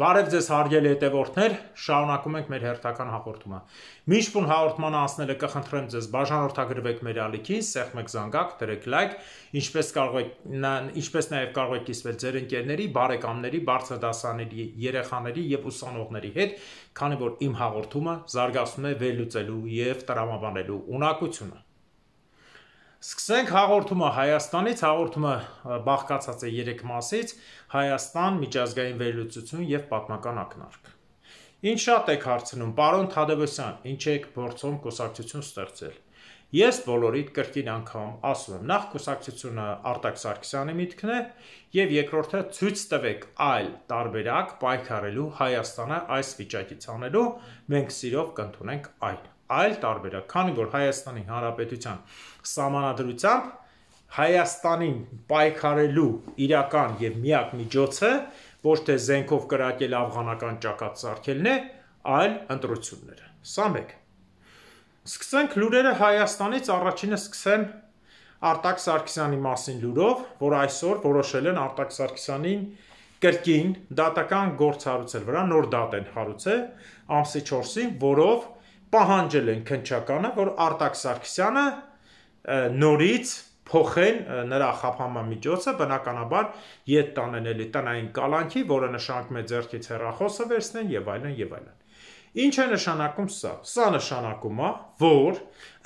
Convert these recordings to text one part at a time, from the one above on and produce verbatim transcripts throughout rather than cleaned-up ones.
Բարև ձեզ հարգելի հետևորդներ, շարունակում ենք մեր հերթական հաղորդումը։ Միշտ հաղորդման անցնելը կխնդրեմ ձեզ բաժանորդագրվեք մեր ալիքին, սեղմեք զանգակ, դրեք լայք, ինչպես կարող եք, ինչպես նաև կարող եք կիսվել ձեր ընկերների, բարեկամների, բարձրադասաների, երեխաների եւ ուսանողների հետ, քանի որ իմ հաղորդումը զարգացնում է վերլուծելու եւ տրամաբանելու ունակությունը։ Սկսենք հաղորդումը Հայաստանից, հաղորդումը բաղկացած է երեք մասից՝ Հայաստան, միջազգային վերլուծություն եւ պատմական ակնարկ։ Ինչ շատ եք հարցնում, պարոն Թադևոսյան, ինչ եք փորձում կուսակցություն ստեղծել։ Ես բոլորիդ կրկին անգամ ասում եմ, նախ կուսակցությունը Արտակ Սարգսյանի միտքն է եւ երկրորդը ցույց տվեք այլ տարբերակ պայքարելու Հայաստանը այս վիճակից անելու, մենք սիրով կընդունենք այն։ Այլ տարբերակ, քանի որ Հայաստանի Հանրապետության սահմանադրությամբ Հայաստանին պայքարելու իրական եւ միակ միջոցը ոչ թե զենքով կրակել աֆղանական ճակատ սարքելն է, այլ ընտրությունները։ Սա մեկ։ Սկսենք լուրերը Հայաստանից, առաջինը սկսեմ Արտակ Սարգսյանի մասին լուրով, որ այսօր որոշել են Արտակ Սարգսյանին կրկին դատական գործ հարուցել վրա, նոր դատ են հարուցել ամսի չորսին, որով պահանջել են քննչականը, որ Արտակ Սարգսյանը նորից փոխեն նրա խափանման միջոցը, բնականաբար ետ տանեն էլի տնային կալանքի, որը նշանակում է ձեռքից հեռախոսը վերցնեն եւ այլն եւ այլն։ Ինչ է նշանակում սա։ Սա նշանակում է, որ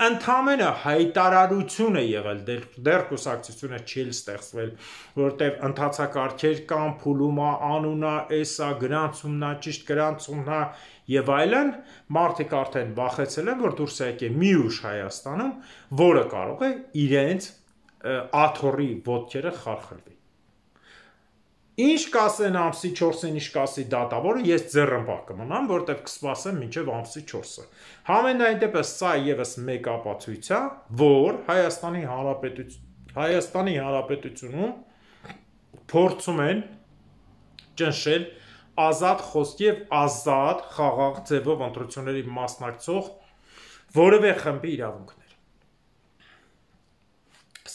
ընդամենը հայտարարություն է եղել, դեռ կուսակցությունը չի ստեղծվել, որտեղ ընթացակարգեր կան, փուլում է, անունա, էսա, գրանցումնա, ճիշտ գրանցումնա եւ այլն, մարդիկ արդեն վախեցել են, որ դուրս եկե մի ուժ Հայաստանում, որը կարող է իրենց աթոռի ոտքերը խարխլվի։ Ինչ կասեն ամսի չորսին, ինչ կասի դատավորը, ես ձեռնպահ կմնամ, որտեղ կսպասեմ մինչև ամսի չորսը։ Համենայն դեպս սա եւս մեկ ապացույց է, որ Հայաստանի Հանրապետություն Հայաստանի Հանրապետությունում փորձում են ճնշել ազատ խոսք եւ ազատ խաղաղ ձևով ընտրությունների մասնակցող որևէ խմբի իրավունքներ։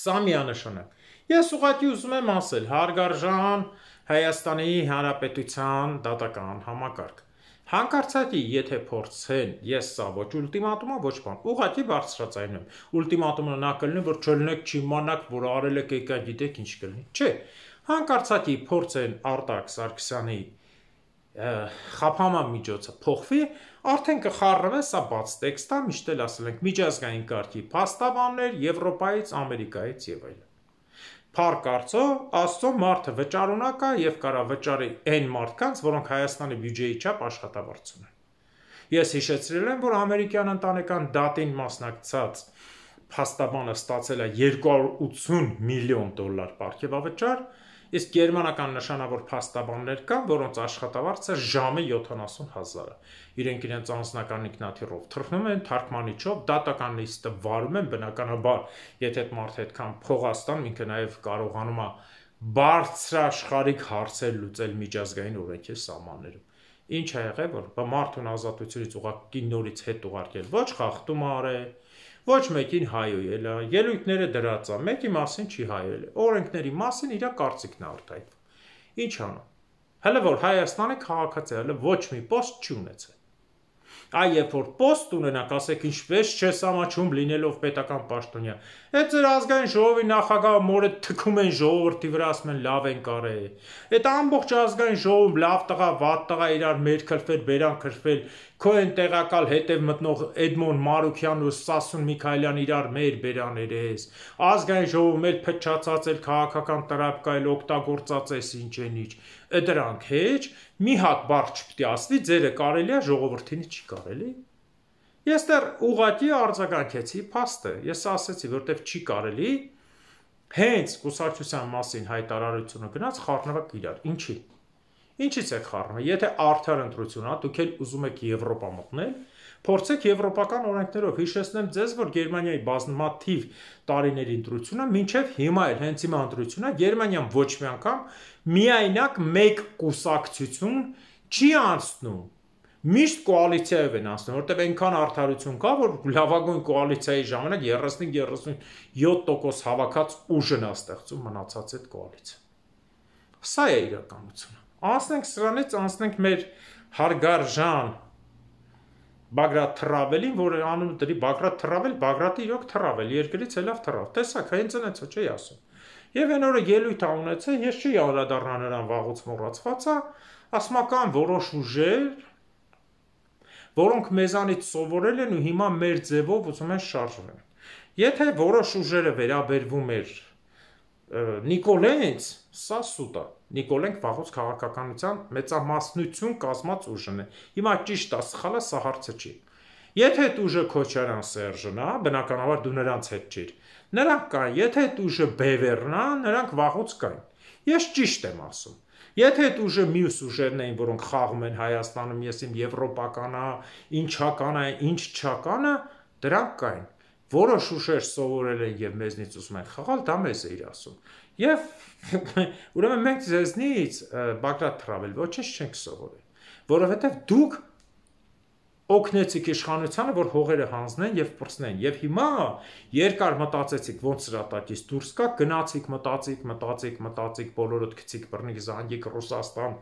Սա միանշանակ։ Ես ուղղակի ուզում եմ ասել, հարգարժան Հայաստանի Հանրապետության դատական համակարգ։ Հանկարծակի, եթե փորձեն, ես սա ոչ ուլտիմատումա, ոչ բան, ուղղակի բարձրացնում եմ։ Ուլտիմատումը նա կլինի, որ չլինեք, չիմանաք, որ արել եք, եկա գիտեք ինչ կլինի։ Չէ, հանկարծակի փորձեն Արտակ Սարգսյանի խափանման միջոցը փոխվի, արդեն կխառնվի, սա բաց տեքստ է, միշտ էլ ասել ենք միջազգային կարգի փաստաբաններ Եվրոպայից, Ամերիկայից եւ այլն։ Փառք Աստծո, Աստծո մարդը վճարունակ է եւ կարա վճարի այն մարդկանց, որոնք Հայաստանի բյուջեի չափ աշխատավարձ ունեն։ Ես հիշեցրել եմ, որ ամերիկյան ընտանեկան դատին մասնակցած փաստաբանը ստացել է երկու հարյուր ութսուն միլիոն դոլար պարգևավճար, իսկ գերմանական նշանավոր փաստաբաններ կան, որոնց աշխատավարձը ժամը յոթանասուն հազար է։ Իրենք իրենց անձնական ինքնաթիռով թռնում են, թարգմանիչով, դատական լիստը վարում են, բնականաբար, եթե այդ մարդը այդքան փող ստան, ինքը նաև կարողանում է բարձրաշխարհիկ հարցեր լուծել միջազգային օրենքի սահմաններում։ Ինչ է եղել, որ մարդուն ազատությունից ուղղակի նորից հետ ուղարկել, ոչ խախտում արել, ոչ մեկին հայոյել է, ելույթները դրած է, մեկի մասին չի հայոյել, օրենքների մասին իր կարծիքն է արտահայտվում։ Ինչ անում։ Հələ որ Հայաստանի քաղաքացի հələ ոչ մի պոստ չի ունեցել։ Այ երբ որ պոստ ունենաք, ասեք ինչպես չես ամաչում լինելով պետական պաշտոնյա։ Այդ ձեր ազգային ժողովի նախագահը մորը թքում են ժողովրդի վրա, ասում են լավ են կարել։ Այդ ամբողջ ազգային ժողովում լավ տղա, վատ տղա իրար մեր քրֆել, բերան քրֆել, քո են տեղակալ հետև մտնող Էդմոն Մարուքյանն ու Սասուն Միքայելյան իրար մեր բերաներես։ Ազգային ժողովում էլ փչացած էլ քաղաքական տրապկայել օգտագործած էս ինչ են ինչ։ Դրանք հեչ մի հատ բառ չպետք է ասվի, ձերը կարելի է, ժողովրդին չի կարելի։ Ես դեռ ուղղակի արձագանքեցի փաստը, ես ասեցի, որտեվ չի կարելի, հենց կուսակցության մասին հայտարարությունը գնաց խառնվակ իրար, ինչի։ Ինչից է խառնվում, եթե արդար ընտրություն է, դուք էլ ուզում եք Եվրոպա մտնել, փորձեք եվրոպական օրենքներով, հիշեցնեմ ձեզ, որ Գերմանիայի բազմաթիվ տարիների ընտրությունը, մինչև հիմա էլ հենց հիմա ընտրությունը, Գերմանիան ոչ մի անգամ միայնակ մեկ կուսակցություն չի անցնում Միշտ կոալիցիայով են անցնում, որտեղ այնքան արդարություն կա, որ լավագույն կոալիցիայի ժամանակ երեսուն երեսուն յոթ տոկոս հավաքած ուժն է ստեղծում մնացած այդ կոալիցիա։ Սա է իրականությունը։ Անցնենք սրանից, անցնենք մեր հարգարժան Բագրատ Թրավելին, որը անունը դրի Բագրատ Թրավել, Բագրատը իրոք թրավել, երկրից ելավ թրավ։ Տեսակ, հենց այնց չի ասում։ Եվ այն օրը ելույթ ունեցել, ես չի անդրադառնա նրան վաղուց մոռացված է, ասմական որոշ ուժեր, որոնք մեզանից սովորել են ու հիմա մեր ձևով ուզում են շարժվել։ Եթե որոշ ուժերը վերաբերվում էր Նիկոլայից, սա սուտ է։ Նիկոլենք վաղուց քաղաքականության մեծամասնություն կազմած ուժն է։ Հիմա ճիշտ է, սխալ է, սա հարցը չի։ Եթե այդ ուժը Քոչարյան Սերժն է, բնականաբար դու նրանց հետ չիր։ Նրանք կան, եթե այդ ուժը Բևերն է, նրանք վաղուց կային։ Ես ճիշտ եմ ասում։ Եթե այդ ուժը մյուս ուժերն էին, որոնք խաղում են Հայաստանում, ես իմ եվրոպականա, ինչականը, ինչ չականը, դրանք կային։ Որոշ ուժեր սովորել են եւ մեզնից ուզում են խաղալ, դա մեզ է իր ասում։ Եվ ուրեմն մենք ձեզնից Բագրատ Թրավել ոչինչ չենք սովորել, որովհետեւ դուք օգնեցիք իշխանությանը, որ հողերը հանձնեն եւ պրծնեն, եւ հիմա երկար մտածեցիք ոնց սրատակից դուրս գա, գնացիք, մտածիք, մտածիք, մտածիք, բոլորդ գցիք բռնիկ զանգիկ Ռուսաստան։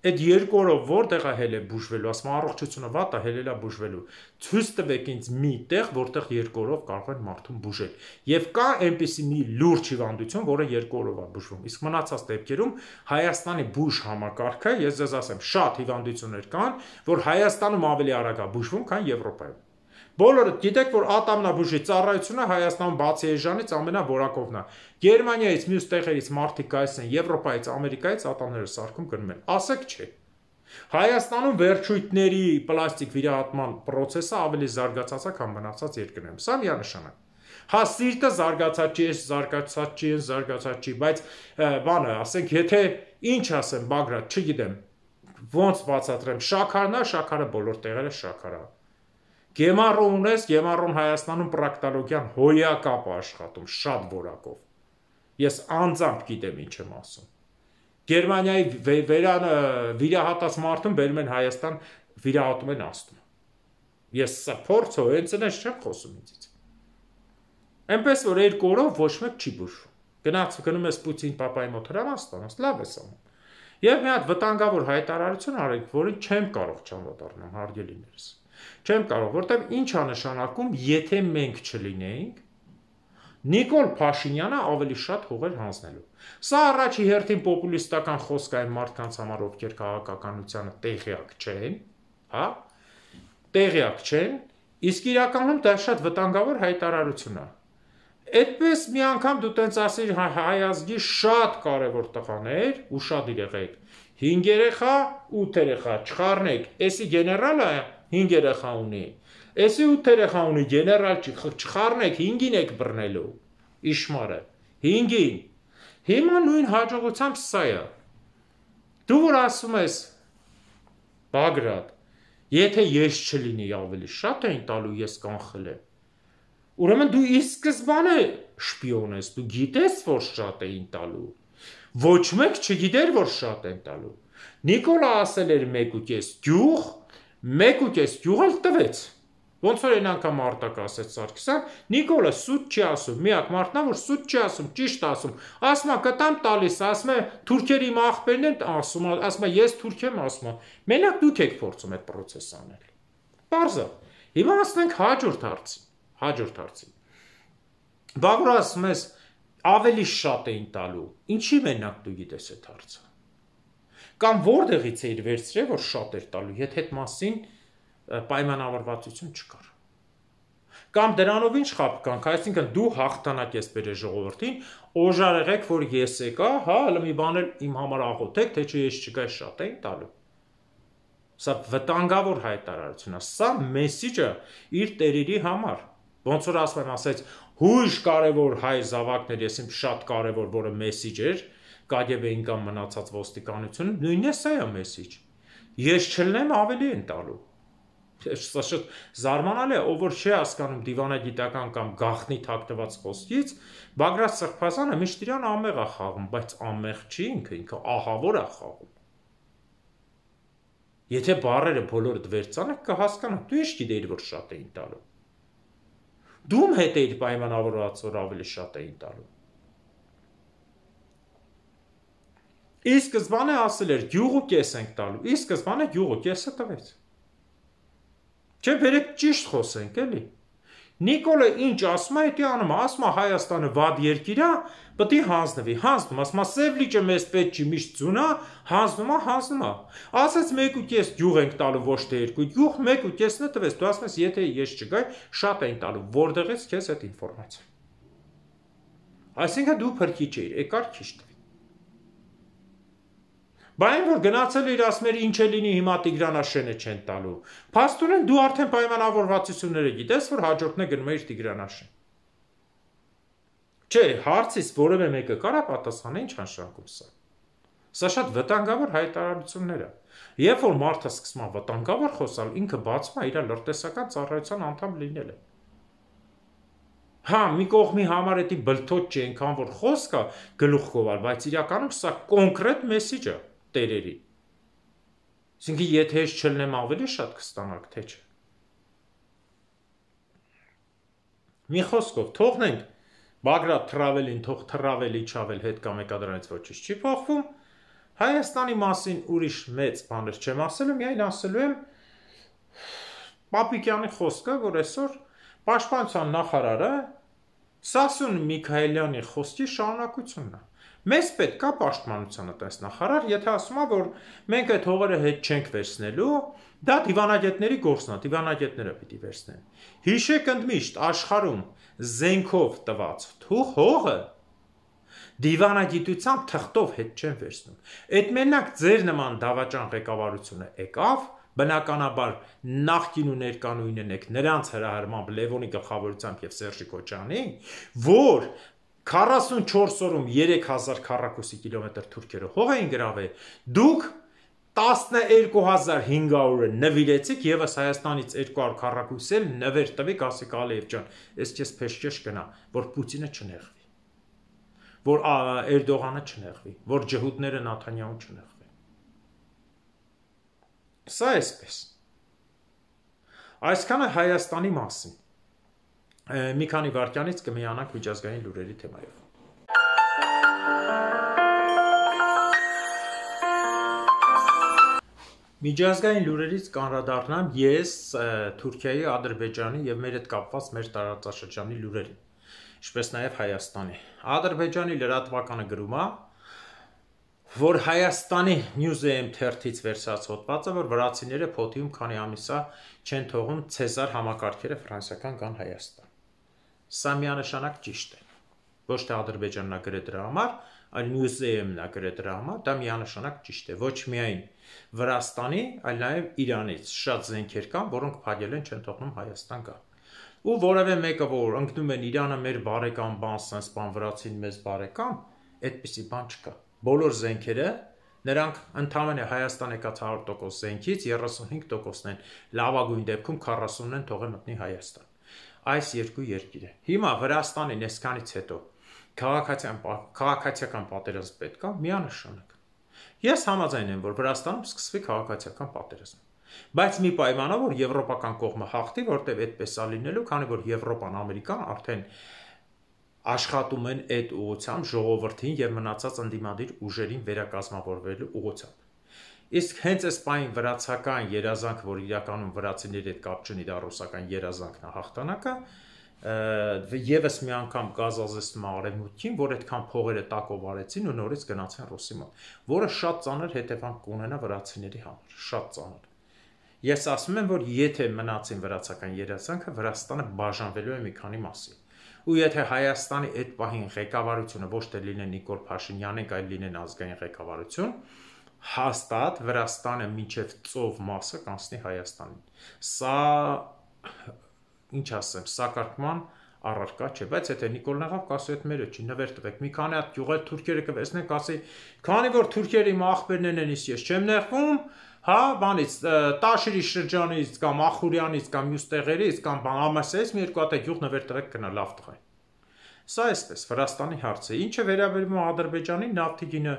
Այդ երկու օրով որտեղ է հել է բուժվելու, ասում առողջությունը վատ է, հելելա բուժվելու։ Ցույց տվեք ինձ մի տեղ, որտեղ երկու օրով կարող են մարդուն բուժել։ Եվ կա այնպիսի մի լուրջ հիվանդություն, որը երկու օրով է բուժվում։ Իսկ մնացած դեպքերում Հայաստանի բուժ համակարգը, ես ձեզ ասեմ, շատ հիվանդություններ կան, որ Հայաստանում ավելի արագ է բուժվում, քան Եվրոպայում։ Բոլորը գիտեք, որ ատամնաբուժի ծառայությունը Հայաստանում բացի էժանից ամենավորակովն է։ Գերմանիայից, մյուս տեղերից մարդիկ գալիս են, Եվրոպայից, Ամերիկայից ատամները սարքում գնում են։ Ասեք չէ։ Հայաստանում վերջույթների պլաստիկ վիրահատման process-ը ավելի զարգացած է, քան մնացած երկրներում։ Սա միանշանակ։ Հա սիրտը զարգացած չի, զարգացած չի, զարգացած չի, բայց բանը, ասենք, եթե ինչ ասեմ, Բագրատ, չգիտեմ, ոնց բացատրեմ, շաքարն է, շաքարը բոլոր տեղերը շաքար է։ Գեմառո ունես, Գեմառոն Հայաստանում պրակտոլոգիան հոյակապ է աշխատում, շատ որակով։ Ես անձամբ գիտեմ ինչ եմ ասում։ Գերմանիայի վիրահատած մարդուն բերում են Հայաստան, վիրահատում են աստում։ Ես սա փորձ հո հենց այնպես չեմ խոսում ինձից։ Այնպես որ երկու օրով ոչ մեկ չի բուժվում։ Գնաց գնում ես Պուտին պապայի մոտ հրավաստանաց, լավ ես անում։ Եվ մի հատ վտանգավոր հայտարարություն արեք, որին չեմ կարող չանդրադառնալ, հարգելիներս։ Չեմ կարող, որտեղ ինչ է նշանակում, եթե մենք չլինեինք, Նիկոլ Փաշինյանը ավելի շատ հողեր հանձնելու։ Սա առաջի հերթին պոպուլիստական խոսք այն մարդկանց համար, ովքեր քաղաքականությանը տեղյակ չեն, հա? Տեղյակ չեն, իսկ իրականում դա շատ վտանգավոր հայտարարություն է։ Այդպես մի անգամ դու տենց ասիր հայ ազգի շատ կարևոր տղաներ, ուշադիր եղեք, հինգ երեխա, ութ երեխա, չխառնեք, էսի գեներալը հինգ երեխա ունի, էսի ութ երեխա ունի, գեներալ չխառնեք, հինգին եք բռնելու, իշմարը, հինգին, հիմա նույն հաջողությամբ սա է, դու որ ասում ես, Բագրատ, եթե ես չլինի ավելի շատ էին տալու, ես կանխել եմ, ուրեմն դու ի սկզբանե շպիոն ես, դու գիտես, որ շատ էին տալու, ոչ մեկ չգիտեր, որ շատ են տալու, Նիկոլը ասել էր մեկ ու կես գյուղ, մեկ ու կես գյուղ էլ տվեց, ոնց որ այն անգամ արտակ ասեց Սարգսյան, Նիկոլը սուտ չի ասում, միակ մարդն է, որ սուտ չի ասում, ճիշտ ասում, ասում է կտամ տալիս, ասում է թուրքերի իմ աղբերն են, ասում է, ասում է ես թուրք եմ, ասում է, մենակ դուք եք փորձում այդ process անել։ Պարզ է։ Հիմա ասենք հաջորդ հարցին, հաջորդ հարցին։ Բա որ ասում ես ավելի շատ էին տալու, ինչի մենակ դու գիտես այդ հարցը։ Կամ որտեղից էիր վերցրել, որ շատ էր տալու, եթե այդ մասին պայմանավորվածություն չկար։ Կամ դրանով ինչ խապ կանք, այսինքն դու հաղթանակ ես բերել ժողովրդին, օժարեղեք, որ ես եկա, հա, հələ մի բան էլ իմ համար աղոթեք, թե չէ ես չկա շատ էին տալու։ Սա վտանգավոր հայտարարություն է, սա մեսիջը իր տերերի համար։ Ոնց որ ասում եմ, ասեց, հույժ կարևոր հայ զավակներ, ես իմ շատ կարևոր, որը մեսիջ էր, կագեբեին կամ մնացած ոստիկանությունը, նույնն է սա է մեսիջ։ Ես չլնեմ ավելի են տալու։ Սա շատ զարմանալի է, ով որ չի հասկանում դիվանագիտական կամ գաղտնի թաքնված խոսքից, Բագրատ Սրբազանը միշտ իրան ամեղ է խաղում, բայց ամեղ չի ինքը, ինքը ահավոր է խաղում։ Եթե բառերը բոլորը վերցանեք, կհասկանաք, դու ինչ գիտեիր, որ շատ էին տալու։ Դու հետ էիր պայմանավորված, որ ավելի շատ էին տալու։ Ի սկզբանե ասել էր գյուղու կես ենք տալու, ի սկզբանե գյուղու կեսը տվեց։ Չէ, բերեք ճիշտ խոսենք, էլի։ Նիկոլը ինչ ասում է, դա անում է, ասում է Հայաստանը վատ երկիր է, պետք է հանձնվի, հանձնում, ասում է Սև լիճը մեզ պետք չի, միշտ ձուն է, հանձնում է, հանձնում է։ Ասած մեկ ու կես գյուղ ենք տալու, ոչ թե երկու, գյուղ մեկ ու կեսն է տվեց, դու ասում ես, եթե ես չգայ, շատ էին տալու, որտեղից քեզ այդ ինֆորմացիա։ Այսինքն դու փրկիչ էիր, եկար քիչ տվի։ Բայց որ գնացել էր ասում էր ինչ է լինի հիմա Տիգրանաշենը չեն տալու։ Փաստորեն դու արդեն պայմանավորվածությունները գիտես, որ հաջորդն է գնում էր Տիգրանաշեն։ Չէ, հարցից որևէ մեկը կարա պատասխանել ինչ նշանակում սա։ Սա շատ վտանգավոր հայտարարություններ է։ Երբ որ մարդը սկսում է վտանգավոր խոսալ, ինքը բացում է իր լրտեսական ծառայության անդամ լինելը։ Հա, մի կողմի համար էդի բլթոց չի այնքան որ խոսք է գլուխ գովալ, բայց իրականում սա կոնկրետ մեսիջ է տերերի։ Այսինքն եթե ես չլնեմ ավելի շատ կստանաք, թե չէ։ Մի խոսքով թողնենք Բագրատ Թրավելին, թող Թրավելի չավել հետ կամ եկա դրանից ոչինչ չի փոխվում։ Հայաստանի մասին ուրիշ մեծ բաներ չեմ ասելու, միայն ասելու եմ Պապիկյանի խոսքը, որ այսօր Պաշտպանության նախարարը Սասուն Միքայելյանի խոսքի շարունակությունն է։ Մեզ պետք է պաշտպանությանը տես նախարար, եթե ասում է, որ մենք այդ հողերը հետ չենք վերցնելու, դա դիվանագետների գործն է, դիվանագետները պիտի վերցնեն։ Հիշեք ընդմիշտ աշխարհում զենքով տված թուղ հողը դիվանագիտությամբ թղթով հետ չեն վերցնում։ Այդ մենակ ձեր նման դավաճան ղեկավարությունը եկավ, բնականաբար նախկին ու ներկանույնն եք նրանց հրահրմամբ Լևոնի գլխավորությամբ եւ Սերժի Քոչյանի, որ քառասունչորս օրում երեք հազար քառակուսի կիլոմետր թուրքերը հող էին գրավել, դուք տասներկու հազար հինգ հարյուրը նվիրեցիք եւս Հայաստանից երկու հարյուր քառակուսի էլ նվեր տվեք, ասեք Ալիև ջան, ես քեզ փեշքեշ գնա, որ Պուտինը չնեղվի, որ Էրդողանը չնեղվի, որ ջհուդները Նաթանյահուն չնեղվի։ Սա էսպես։ Այսքանը Հայաստանի մասին։ Մի քանի վայրկյանից կմիանանք միջազգային լուրերի թեմայով։ Միջազգային լուրերից կանրադառնամ ես Թուրքիայի, Ադրբեջանի եւ մեր հետ կապված մեր տարածաշրջանի լուրերին, ինչպես նաեւ Հայաստանի։ Ադրբեջանի լրատվականը գրում է, որ Հայաստանի Newsem թերթից վերցած հոդվածը, որ վրացիները փոթիում քանի ամիսա չեն թողում Ցեզար համակարգերը ֆրանսիական գան Հայաստան։ Սա միանշանակ ճիշտ է։ Ոչ թե Ադրբեջանն է գրել դրա համար, այլ Newsem-ն է գրել դրա համար, դա միանշանակ ճիշտ է։ Ոչ միայն Վրաստանի, այլ նաև Իրանից շատ զենքեր կան, որոնք փակել են, չեն թողնում Հայաստան գա։ Ու որևէ մեկը, որ ընկնում են Իրանը մեր բարեկամ բան, sense բան վրացին մեզ բարեկամ, այդպիսի բան չկա։ Բոլոր զենքերը նրանք ընդամենը Հայաստան եկած հարյուր տոկոս զենքից երեսունհինգ տոկոսն են, լավագույն դեպքում քառասունն են թողել մտնի Հայաստան։ Այս երկու երկիրը։ Հիմա Վրաստանին այսքանից հետո քաղաքացիական քաղաքացիական պատերազմ պետք է միանշանակ։ Ես համաձայն եմ, որ Վրաստանում սկսվի քաղաքացիական պատերազմ։ Բայց մի պայմանով, որ եվրոպական կողմը հաղթի, որտեղ այդպես է լինելու, քանի որ Եվրոպան, Ամերիկան արդեն աշխատում են այդ ուղղությամբ ժողովրդին եւ մնացած ընդդիմադիր ուժերին վերակազմավորվելու ուղղությամբ։ Իսկ հենց այս պայն վրացական երազանք, որ իրականում վրացիների հետ կապ չունի, դա ռուսական երազանքն է հաղթանակը, եւս մի անգամ գազազեսնում արևմուտքին, որ այդքան փողերը տակով արեցին ու նորից գնացին Ռուսի մոտ, որը շատ ծանր հետևանք կունենա վրացիների համար, շատ ծանր։ Ես ասում եմ, որ եթե մնացին վրացական երազանքը, Վրաստանը բաժանվելու է մի քանի մասի։ Ու եթե Հայաստանի այդ պահին ղեկավարությունը ոչ թե լինեն Նիկոլ Փաշինյանն, այլ լինեն ազգային ղեկավարություն, հաստատ Վրաստանը մինչև ծով մասը կանցնի Հայաստանին։ Սա ինչ ասեմ, սակարկման առարկա չէ, բայց եթե Նիկոլն աղավ կասի այդ մերը չի, նվեր տվեք, մի քանի հատ գյուղեր թուրքերը կվեսնեն, կասի, քանի որ թուրքերը իմ աղբերներն են, ես չեմ նեղվում, հա, բանից, Տաշիրի շրջանից կամ Ախուրյանից կամ մյուս տեղերից կամ Ամասեից մի երկու հատ գյուղ նվեր տվեք կնա լավ տղա։ Սա էսպես Վրաստանի հարցը, ինչը վերաբերում է Ադրբեջանի նավթի գինը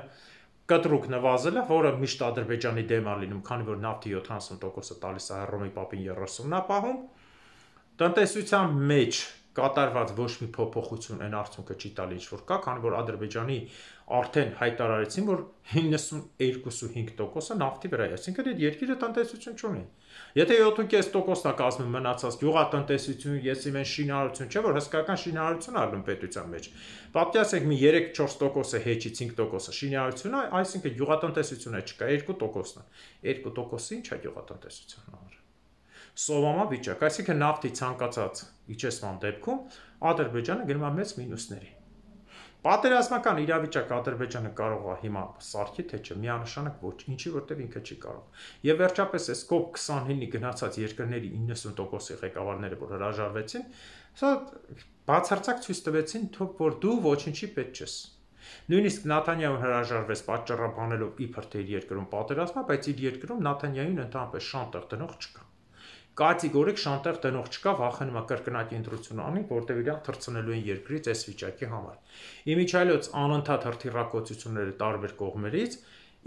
կտրուկ նվազել է, որը միշտ Ադրբեջանի դեմ է լինում, քանի որ նավթի յոթանասուն տոկոսը տալիս է Հռոմի Պապին երեսունն է պահում։ Տնտեսության մեջ կատարված ոչ մի փոփոխություն այն արդյունքը չի տալի ինչ որ կա, քանի որ Ադրբեջանի արդեն հայտարարեցին, որ իննսունհինգ տոկոսը նավթի վրա է, այսինքն այդ երկիրը տնտեսություն չունի։ Եթե յոթ կես տոկոսն է կազմում մնացած գյուղատնտեսություն, եսի մեն շինարարություն, չէ՞ որ հսկայական շինարարություն ա ալնում պետության մեջ։ Պատկերացեք մի երեք-չորս տոկոսը հեչից cinque տոկոսը շինարարություն է, այսինքն գյուղատնտեսությունը չկա, երկու տոկոսն է։ երկու տոկոսը ի՞նչ է գյուղատնտեսության համար։ Սովամա վիճակ, այսինքն նավթի ցանկացած իջեցման դեպքում Ադրբեջանը գնում է մեծ մինուսների։ Պատերազմական իրավիճակ Ադրբեջանը կարող է հիմա սարքի, թե չէ, միանշանակ ոչ, ինչի որտեվ ինքը չի կարող։ Եվ վերջապես այս կոպ քսանինի գնացած երկրների իննսուն տոկոսի ղեկավարները, որ հրաժարվեցին, սա բացարձակ ցույց տվեցին, որ դու ոչինչի պետք չես։ Նույնիսկ Նաթանյահուն հրաժարվեց պատճառաբանելով իբր թե իր երկրում պատերազմը, բայց իր երկրում Նաթանյահուն ընդհանրապես շանտեղ դնող չկա։ Կատեգորիկ շանտեղ դնող չկա, վախենում է կրկնակի ընտրություն անի, որտեղ իրան թռցնելու են երկրից այս վիճակի համար։ Իմիջիայլոց անընդհատ հրթիռակոծությունները տարբեր կողմերից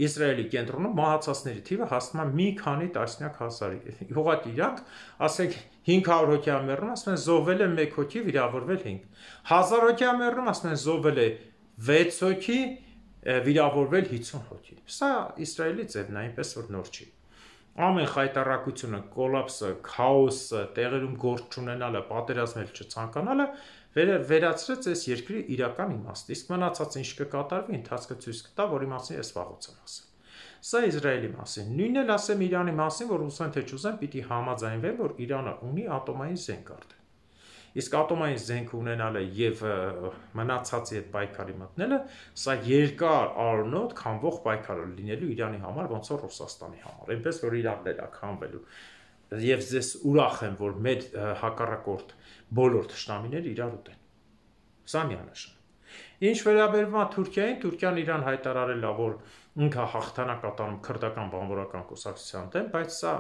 Իսրայելի կենտրոնում մահացածների թիվը հասնում է մի քանի տասնյակ հազարի։ Ուղղակի իրանք, ասենք հինգ հարյուր հոգի ա մեռնում, ասում են զոհվել է մեկ հոգի, վիրավորվել հինգ։ հազար հոգի ա մեռնում, ասում են զոհվել է վեց հոգի, վիրավորվել հիսուն հոգի։ Սա Իսրայելի ձևն է, այնպես որ նոր չի։ Ամեն խայտառակությունը, կոլապսը, քաոսը, տեղերում գործ չունենալը, պատերազմել չցանկանալը վերացրեց այս երկրի իրական իմաստը, իսկ մնացած ինչ կկատարվի, ընթացքը ցույց կտա, որի մասին ես վաղուց եմ ասել։ Սա Իսրայելի մասին, նույնն էլ ասեմ Իրանի մասին, որ ուզեն թե չուզեն, պիտի համաձայնվեն, որ Իրանը ունի ատոմային զենք արդեն։ Իսկ ատոմային զենք ունենալը եւ մնացածի հետ պայքարի մտնելը, սա երկար առնոտ քանվող պայքար է լինելու Իրանի համար, ոնց որ Ռուսաստանի համար, այնպես որ Իրանն էլ է քանվելու։ Եվ ես ուրախ եմ, որ մեր հակառակորդ բոլոր թշնամիները իրար ուտեն։ Սա միանշան։ Ինչ վերաբերվում է Թուրքիային, Թուրքիան իրան հայտարարել է, որ ինքը հաղթանակ կատարում քրդական բանվորական կուսակցության դեմ, բայց սա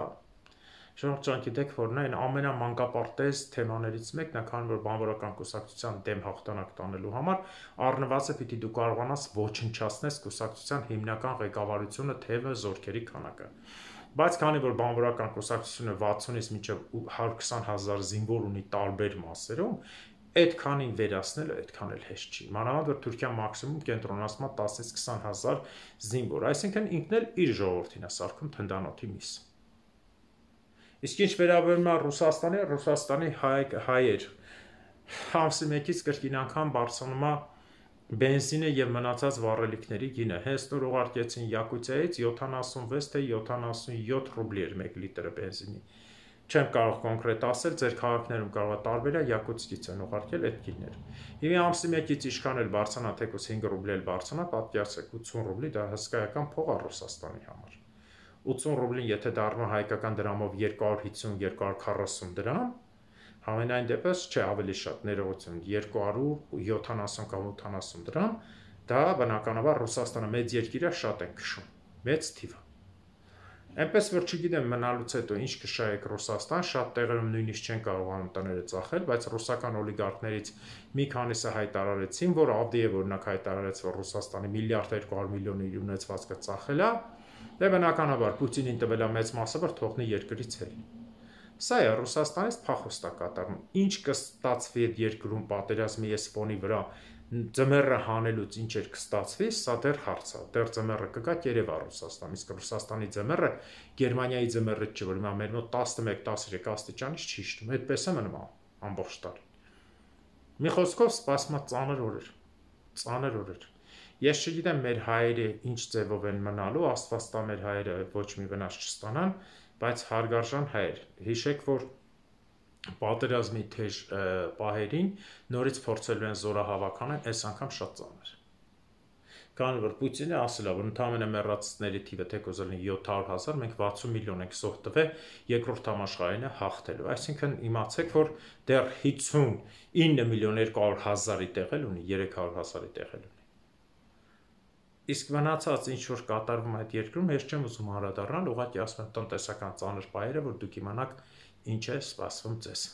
Շնորհ գիտեք, որ նա այն ամենամանկապարտեզ թեմաներից մեկն է, քանի որ բանվորական կուսակցության դեմ հաղթանակ տանելու համար առնվազն պիտի դու կարողանաս ոչնչացնես կուսակցության հիմնական ղեկավարությունը, թևը, զորքերի քանակը։ Բայց քանի որ բանվորական կուսակցությունը վաթսունից մինչև հարյուր քսան հազար զինվոր ունի տարբեր մասերում, այդքանին վերացնելը այդքան էլ հեշտ չի։ Մանավանդ որ Թուրքիան մաքսիմում կենտրոնացնում է տասից քսան հազար զինվոր, այսինքն ինքն էլ իր ժողովրդին է սարքում թնդանոթի միս։ Իսկ ինչ վերաբերում է Ռուսաստանի, Ռուսաստանի հայ, հայեր ամսի մեկից կրկին անգամ բարձրանում է բենզինը եւ մնացած վառելիքների գինը։ Հենց նոր ուղարկեցին Յակուտիայից յոթանասունվեց թե յոթանասունյոթ ռուբլի էր մեկ լիտրը բենզինի։ Չեմ կարող կոնկրետ ասել, ձեր քաղաքներում կարող է տարբեր է, Յակուտսկից են ուղարկել այդ գինները։ Եվ ամսի մեկից ինչքան էլ բարձրանա, թեկուզ հինգ ռուբլի էլ բարձրանա, պատկերացրեք ութսուն ռուբլի, դա հսկայական փող է Ռուսաստանի համար։ ութսուն ռուբլին եթե դառնա հայկական դրամով երկու հարյուր հիսուն երկու հարյուր քառասուն դրամ, համենայն դեպս չէ ավելի շատ ներողություն, երկու հարյուր յոթանասուն կամ ութանասուն դրամ, դա բնականաբար Ռուսաստանը մեծ երկիր է, շատ է քշում, մեծ թիվ է։ Այնպես որ չգիտեմ մնալուց հետո ինչ կշայեք Ռուսաստան, շատ տեղերում նույնիսկ չեն կարողանում տները ծախել, բայց ռուսական օլիգարխներից մի քանիսը հայտարարեցին, որ Ավդիևը օրինակ հայտարարեց, որ Ռուսաստանի միլիարդ երկու հարյուր միլիոն իր ունեցվածքը ծախել է, դե բնականաբար Պուտինին տվել է մեծ մասը, որ թողնի երկրից հել։ Սա է Ռուսաստանից փախուստ է կատարում։ Ինչ կստացվի այդ երկրում պատերազմի այս ֆոնի վրա, ձմեռը հանելուց ինչ էր կստացվի, սա դեռ հարց է։ Դեռ ձմեռը կգա Երևան Ռուսաստան, իսկ Ռուսաստանի ձմեռը Գերմանիայի ձմեռը չէ, որ հիմա մեր մոտ տասնմեկ տասներեք աստիճանից չի շտում, այդպես է մնում ամբողջ տարի։ Մի խոսքով սպասում է ծանր օրեր, ծանր օրեր։ Ես չգիտեմ մեր հայերը ինչ ձևով են մնալու, Աստված տա մեր հայերը ոչ մի վնաս չստանան, բայց հարգարժան հայեր, հիշեք, որ պատերազմի թեժ պահերին նորից փորձելու են զորահավաքանել, այս անգամ շատ ծանր։ Քանի որ Պուտինը ասել է, որ ընդհանրապես մեռածների թիվը թեկուզ լինի յոթ հարյուր հազար, մենք վաթսուն միլիոն ենք զոհ տվել երկրորդ համաշխարհայինը հաղթելու։ Այսինքն իմացեք, որ դեռ հիսունինը միլիոն երկու հարյուր հազարի տեղել ունի, երեք հարյուր հազարի տեղել ունի։ Իսկ մնացած ինչ որ կատարվում է այդ երկրում, ես չեմ ուզում անդրադառնալ, ուղղակի ասում եմ տնտեսական ծանր պահերը, որ դուք իմանաք ինչ է սպասվում ձեզ։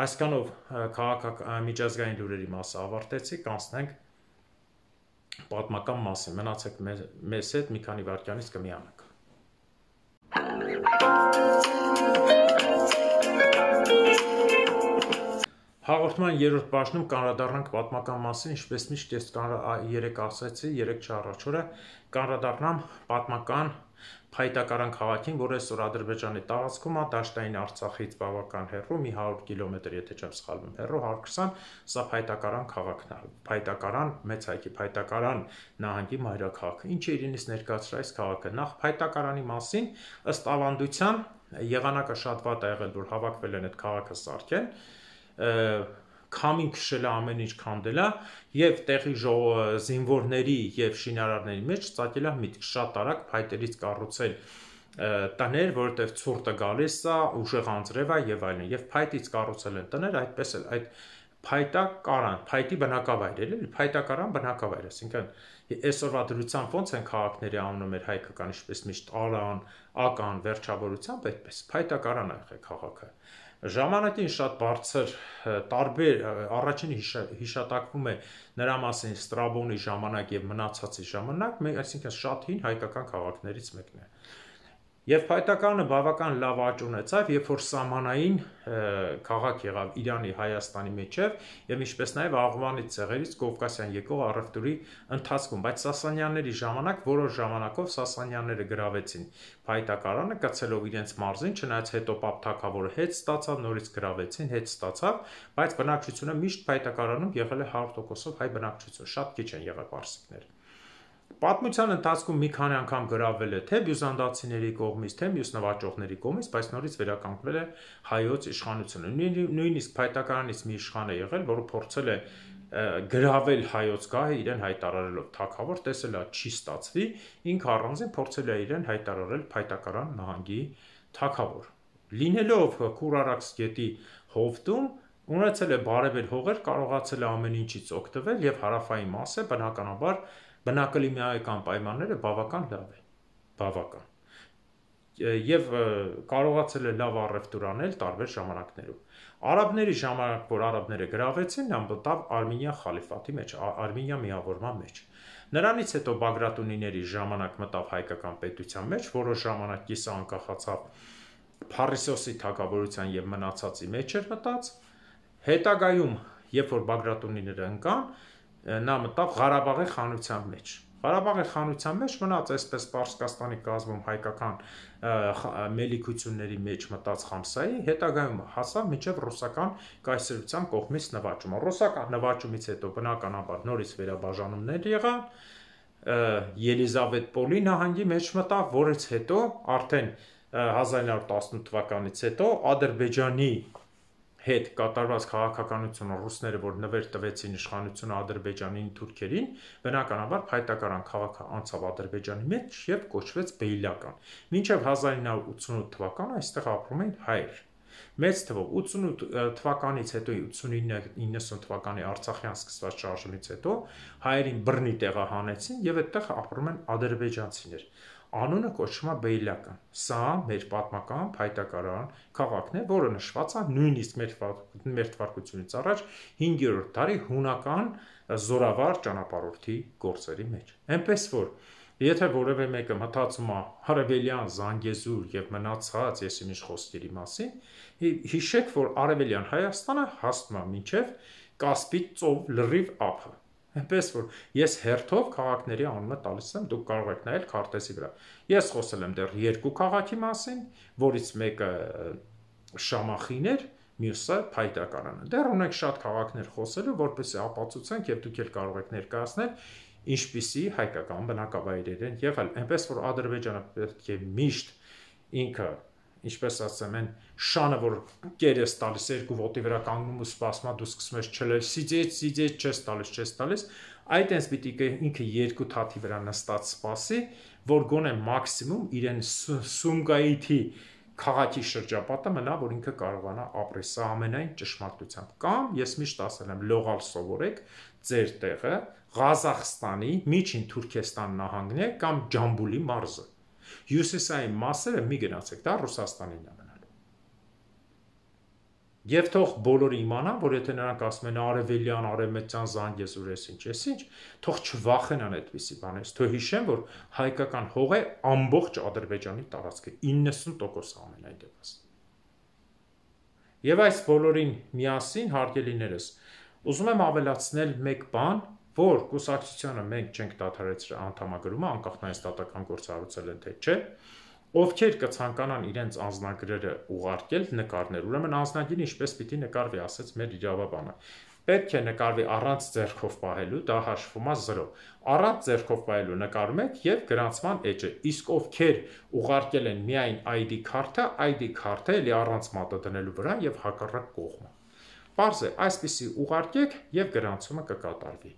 Այսքանով քաղաքական միջազգային լուրերի մասը ավարտեցի, կանցնենք պատմական մասին։ Մնացեք մեզ հետ, մի քանի վայրկյանից կմիանանք։ Հաղորդման երրորդ բաժնում կանդրադառնանք պատմական մասին, ինչպես միշտ ես երեք ասացի, երեք չառաջ օրը կանդրադառնամ պատմական Փայտակարան քաղաքին, որը այսօր Ադրբեջանի տարածքում է, դաշտային Արցախից բավական հեռու, մի հարյուր կիլոմետր, եթե չեմ սխալվում, հեռու, հարյուր քսան, սա Փայտակարան քաղաքն է։ Փայտակարան, մեծ հայքի Փայտակարան նահանգի մայրաքաղաքը։ Ինչ է իրենից ներկայացրել այս քաղաքը։ Նախ Փայտակարանի մասին, ըստ ավանդության, եղանակը շատ վատ է եղել, որ հավաքվել են այդ քաղաքը սարքեն, քամին քշել է, ամեն ինչ քանդել է եւ տեղի զինվորների եւ շինարարների մեջ ծագել է միտք շատ արագ փայտերից կառուցել տներ, որովհետեւ ցուրտը գալիս է, ուժեղ անձրև է եւ այլն, եւ փայտից կառուցել են տներ, այդպես էլ այդ Փայտակարան, փայտի բնակավայր էլ էլի, Փայտակարան բնակավայր, այսինքն այսօրվա դրությամբ ոնց են քաղաքների անունը մեր հայկական, ինչպես միշտ Արան, Ական, վերջավորությամբ այդպես Փայտակարան է եղել քաղաքը։ Ժամանակին շատ բարձր տարբեր առաջին հիշատակվում է նրա մասին Ստրաբոնի ժամանակ եւ մնացածի ժամանակ, այսինքն շատ հին հայկական քաղաքներից մեկն է։ Եվ Փայտակարանը բավական լավ աճ ունեցավ, երբ որ սահմանային քաղաք եղավ Իրանի, Հայաստանի միջև եւ ինչպես նաեւ Աղվանից ցեղերից Կովկասյան եկող առևտուրի ընթացքում, բայց Սասանյանների ժամանակ որոշ ժամանակով Սասանյանները գրավեցին Փայտակարանը, կցելով իրենց մարզին, չնայած հետո Պապ թագավորը հետ ստացավ, նորից գրավեցին, հետ ստացավ, բայց բնակչությունը միշտ Փայտակարանում եղել է հարյուր տոկոսով հայ բնակչություն, շատ քիչ են եղել պարսիկներ։ Պատմության ընթացքում մի քանի անգամ գրավել է թե բյուզանդացիների կողմից, թե մյուս նվաճողների կողմից, բայց նորից վերականգնվել է հայոց իշխանությունը։ Նույնիսկ Փայտակարանից մի իշխան է եղել, որը փորձել է գրավել հայոց գահը իրեն հայտարարելով թագավոր, տեսել է չի ստացվի, ինքը առանձին փորձել է իրեն հայտարարել Փայտակարան նահանգի թագավոր։ Լինելով Քուրարաքս գետի հովտում, ունեցել է բարևեր հողեր, կարողացել է ամեն ինչից օգտվել եւ հարավային մասը բնականաբար բնակլիմայական պայմանները բավական լավ են, բավական, և կարողացել է լավ առևտուր անել տարբեր ժամանակներում։ Արաբների ժամանակ, որ արաբները գրավեցին, նա մտավ Արմենիա խալիֆաթի մեջ, Արմենիա միավորման մեջ։ Նրանից հետո Բագրատունիների ժամանակ մտավ հայկական պետության մեջ, որոշ ժամանակ կիսը անկախացավ Փարիսոսի թագավորության եւ մնացածի մեջ էր մտած։ Հետագայում, երբ որ Բագրատունիները ընկան, նա մտավ Ղարաբաղի խանության մեջ։ Ղարաբաղի խանության մեջ մնաց այսպես Պարսկաստանի կազմում հայկական մելիքությունների մեջ մտած Խամսայի, հետագայում հասավ մինչև ռուսական կայսրության կողմից նվաճումը։ Ռուսական նվաճումից հետո բնականաբար նորից վերաբաժանումներ եղան, Ելիզավետպոլի նահանգի մեջ մտավ, որից հետո արդեն հազար ինը հարյուր տասնութ թվականից հետո Ադրբեջանի հետ կատարված քաղաքականությունը ռուսները, որ նվեր տվեցին իշխանությունը Ադրբեջանին թուրքերին, բնականաբար Փայտակարան քաղաքը անցավ Ադրբեջանի մեջ եւ կոչվեց Բեյլական։ Մինչեւ հազար ինը հարյուր ութսունութ թվականը այստեղ ապրում էին հայեր։ Մեծ թվով ութսունութ թվականից հետո ութսունինը իննսուն թվականի Արցախյան սկսված շարժումից հետո հայերին բռնի տեղահանեցին եւ այդտեղ ապրում են ադրբեջանցիներ։ Անունը կոչվում է Բեյլական։ Սա մեր պատմական Փայտակարան քաղաքն է, որը նշված է նույնիսկ մեր թվարկությունից առաջ հինգերորդ դարի հունական զորավար ճանապարհորդի գործերի մեջ։ Այնպես որ եթե որևէ մեկը մտածում է Արևելյան Զանգեզուր եւ մնացած եսիմինչ խոսքերի մասին, հիշեք, որ Արևելյան Հայաստանը հասնում է մինչև Կասպից ծով լրիվ ափը։ Այնպես որ ես հերթով քաղաքների անունը տալիս եմ, դուք կարող եք նայել քարտեզի վրա։ Ես խոսել եմ դեռ երկու քաղաքի մասին, որից մեկը Շամախին էր, մյուսը Փայտակարանը։ Դեռ ունենք շատ քաղաքներ խոսելու, որպեսզի ապացուցենք եւ դուք էլ կարող եք ներկայացնել ինչպիսի հայկական բնակավայրեր են եղել։ Այնպես որ Ադրբեջանը պետք է միշտ ինքը, ինչպես ասեմ, են շանը, որ կերես տալիս երկու ոտի վրա կանգնում ու սպասում, դու սկսում ես չլել, սիծեց, սիծեց, չես տալիս, չես տալիս, այդ այնպես պիտի ինքը երկու թաթի վրա նստած սպասի, որ գոնե մաքսիմում իրեն Սումգայիթի քաղաքի շրջապատը մնա, որ ինքը կարողանա ապրել, սա ամենայն ճշմարտությամբ։ Կամ ես միշտ ասել եմ, լողալ սովորեք ձեր տեղը Ղազախստանի, Միջին Թուրքեստան նահանգն է կամ Ջամբուլի մարզը։ Հյուսիսային մասերը մի գնացեք, դա Ռուսաստանին է մնալու։ Եվ թող բոլորը իմանան, որ եթե նրանք ասում են արևելյան, արևմտյան զանգ ես ուր ես ինչ, ես ինչ, թող չվախենան այդպիսի բաներից, թող հիշեն, որ հայկական հող է ամբողջ Ադրբեջանի տարածքը, իննսուն տոկոս ամենայն դեպս։ Եվ այս բոլորին միասին, հարգելիներս, ուզում եմ ավելացնել մեկ բան, որ կուսակցությանը մենք չենք դադարեցրել անդամագրումը, անկախ նայած դատական գործառույթել են թե չէ, ովքեր կցանկանան իրենց անձնագրերը ուղարկել նկարներ, ուրեմն անձնագիրը ինչպես պիտի նկարվի, ասեց մեր իրավաբանը։ Պետք է նկարվի առանց ձեռքով պահելու, դա հաշվում է զրո։ Առանց ձեռքով պահելու նկարում եք եւ գրանցման էջը։ Իսկ ովքեր ուղարկել են միայն այ դի քարտը, այ դի քարտը էլի առանց մատը դնելու վրա եւ հակառակ կողմը։ Պարզ է, այսպիսի ուղարկեք եւ գրանցումը կկատարվի։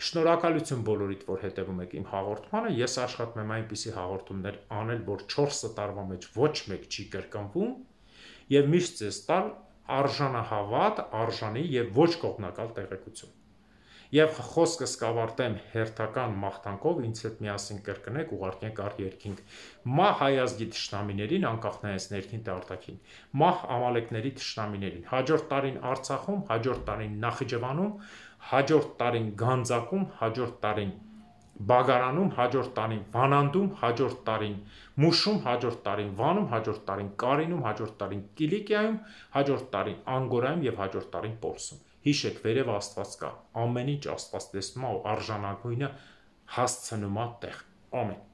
Շնորհակալություն բոլորիդ, որ հետևում եք իմ հաղորդմանը, ես աշխատում եմ այնպիսի հաղորդումներ անել, որ չորս տարվա մեջ ոչ մեկ չի կրկնվում եւ միշտ ձեզ տալ արժանահավատ, արժանի եւ ոչ կողմնակալ տեղեկություն։ Եվ խոսքս կավարտեմ հերթական մաղթանքով, ինձ հետ միասին կրկնեք, ուղարկենք առ երկինք մահ հայազգի թշնամիներին, անկախ նայած ներքին թե արտաքին, մահ ամալեկների թշնամիներին, հաջորդ տարին Արցախում, հաջորդ տարին Նախիջևանում, հաջորդ տարին Գանձակում, հաջորդ տարին Բագարանում, հաջորդ տարին Վանանդում, հաջորդ տարին Մուշում, հաջորդ տարին Վանում, հաջորդ տարին Կարինում, հաջորդ տարին Կիլիկիայում, հաջորդ տարին Անգորայում եւ հաջորդ տարին Պորսում։ Հիշեք, վերև Աստված կա, ամեն ինչ Աստված տեսնում է ու արժանագույնը հասցնում է տեղ։ Ամեն